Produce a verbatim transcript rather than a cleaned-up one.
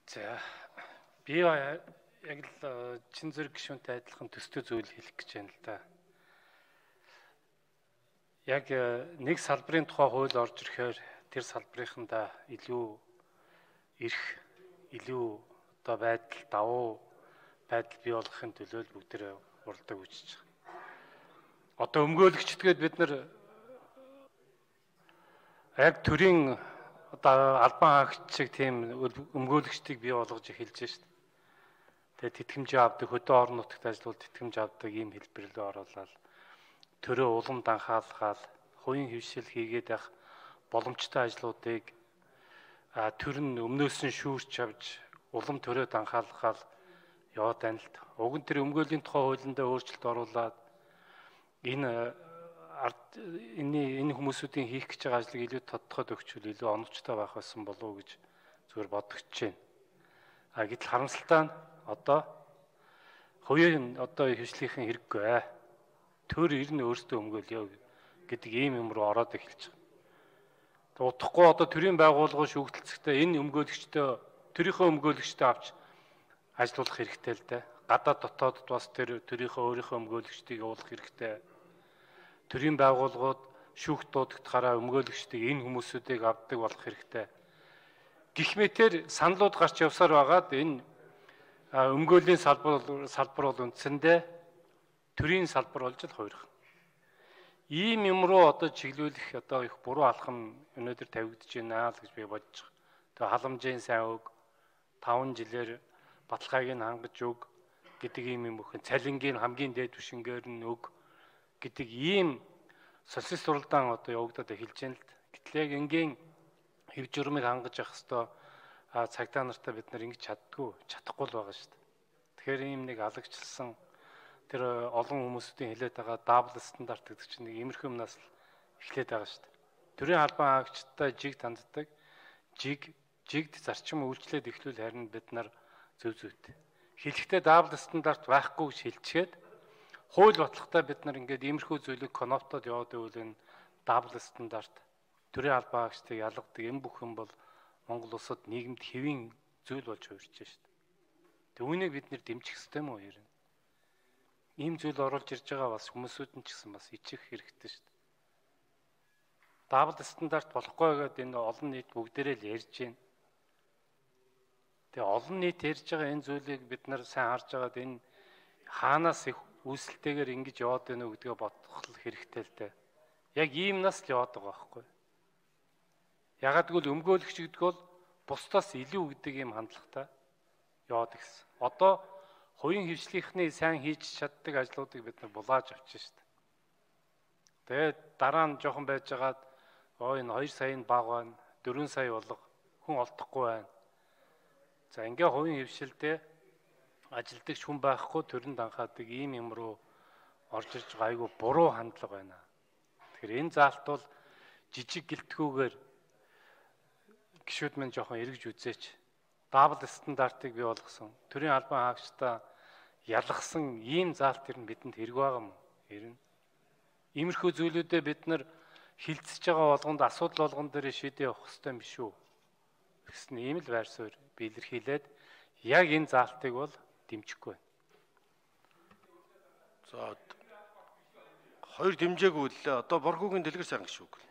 За би яг л чин зэрэг гишүүнтэй адилхан төстэй зүйл хэлэх гэж байна л да. Яг нэг салбарын тухай хууль орж ирэхээр тэр салбарынхандаа илүү эрх, илүү одоо байдал давуу байдал бий болгохын төлөө бүгд тэр уралдаг үүсэж байгаа. Одоо өмгөөлөгчдгээд бид нар яг төрийн одоо албан хаагч шиг тийм өмгөөлөгчдийг бий болгож эхэлж шээ. Тэгээ тэтгэмжээ авдаг, хөдөө орон нутагт ажиллавал тэтгэмж авдаг ийм хэлбэрлээ оруулаад төрөө улам данхаалгаад хувийн хөвшил хийгээд байх боломжтой ажлуудыг төр нь өмнөөс нь шүүрч авч улам төрөө данхаалгаад яваад байна л. Уг нь тэр өмгөөлийн тухай хуулиндаа өөрчлөлт оруулаад энэ энэ энэ хүмүүсүүдийн хийх гэж байгаа ажлыг илүү тодтоход өгчвөл илүү оновчтой байх байсан болов уу гэж зүгээр бодогч байна. А гэтэл харамсалтай нь одоо хувийн одоо хвшлийнхэн хэрэггүй. Төр ирнэ өөрсдөө өмгөөлё гэдэг ийм юм руу ороод эхэлж байгаа. Тэг утахгүй одоо төрийн байгууллагын шүүгдэлцэхдээ энэ өмгөөлөгчдөө төрийнхөө өмгөөлөгчдөө авч ажиллуулах хэрэгтэй л дээ. Гадаад дотоодд бас тэр төрийнхөө өөрийнхөө өмгөөлөгчдийг явуулах хэрэгтэй. Төрийн байгууллагууд шүүхт дуудагдахаараа өмгөөлөгчдийг энэ хүмүүсүүдийг авдаг болох хэрэгтэй. Гэх мэтээр саналууд гарч явсаар байгаад энэ өмгөөлийн салбар салбар бол үндсэндээ төрийн салбар болж л хувирах. Ийм юм руу одоо чиглүүлэх одоо их буруу алхам өнөөдөр тавигдж байна л гэж би бодож байгаа. Тэгээ халамжийн сайн үг, таван жилээр баталгааг нь хангаж өг гэдэг ийм юм өхөн цалингийн хамгийн дээд түвшингээр нь өг гэдэг ийм социалист суралдаан одоо явагдаад эхэлж байна л. Гэтэл яг энгийн хэв журмыг хангаж явах хэвээр цагдаа нартаа бид нар ингэж чаддгүй, чадахгүй л байгаа шүү дээ. Тэгэхээр ийм нэг алагчлсан тэр олон хүмүүсийн хэлээд байгаа дабл стандарт гэдэг чинь нэг иймэрхүү юмнаас л эхлээд байгаа шүү дээ. Төрийн албан хаагчтай жиг танддаг, жиг жигд зарчим үйлчлээд эхлүүл харин бид нар зөв зөвтэй. Хэлэхдээ дабл стандарт байхгүй гэж хэлчихэд хууль батлагтай бид нар ингээд иймэрхүү зүйлийг коноптод яваад байвал энэ дабл стандарт төрийн албан хаагчдыг ялгадаг юм бүх юм бол Монгол улсад нийгэмд хэвийн зүйл болж хувирч байна шүү дээ. Түүнийг бид нэр дэмжих ёстой юм уу ер нь? Ийм зүйл оруулж ирж байгаа бас хүмүүсүүд нь ч гэсэн бас ичих хэрэгтэй шүү дээ. Дабл стандарт болохгүй гэдэг энэ олон нийт бүгдээрээ л ярьж байна. Тэгээ олон нийт ярьж байгаа энэ зүйлийг бид нар сайн харж байгаад энэ хаанаас их үүсэлтэйгээр ингэж яваад байна уу гэдгээ бодох хэрэгтэй л дээ. Яг иймнаас л яваад байгаа байхгүй. Ягаад гэвэл өмгөөлөгч гэдэг бол бусдаас илүү гэдэг юм хандлагатай яваад гисэн. Одоо хувийн хвшлийнхний сайн хийж чаддаг ажлуудыг бид нар булааж авчих шүү дээ. Тэгээд дараа нь жоохон байжгаад оо энэ хоёр сая баг байна, дөрвөн сая болго хүн олдохгүй байна. За ингээ хувийн хвшилдээ ажилдагч хүн байхгүй төрөнд анхаадаг ийм юм руу орж ирж байгаа айгүй буруу хандлага байна. Тэгэхээр энэ заалт бол жижиг гэлтгүүгээр гишүүд мань жоохон эргэж үзээч. Дабл стандартыг бий болгосон. Төрийн албан хаагчдаа ялгсан ийм заалт ер нь бидэнд хэрэг байгаа юм. Ер нь иймэрхүү зүйлүүдэд бид нар хилцэж байгаа болгонд асуудал болгон дээр шийдээ явах хэрэгтэй юм биш үү? Гэсэн ийм л байр суурь биелэрхийлээд яг энэ заалтыг бол дэмжихгүй байна. За хоёр дэмжээгүй л одоо Боргуугийн дэлгэр сайхан гişүүг.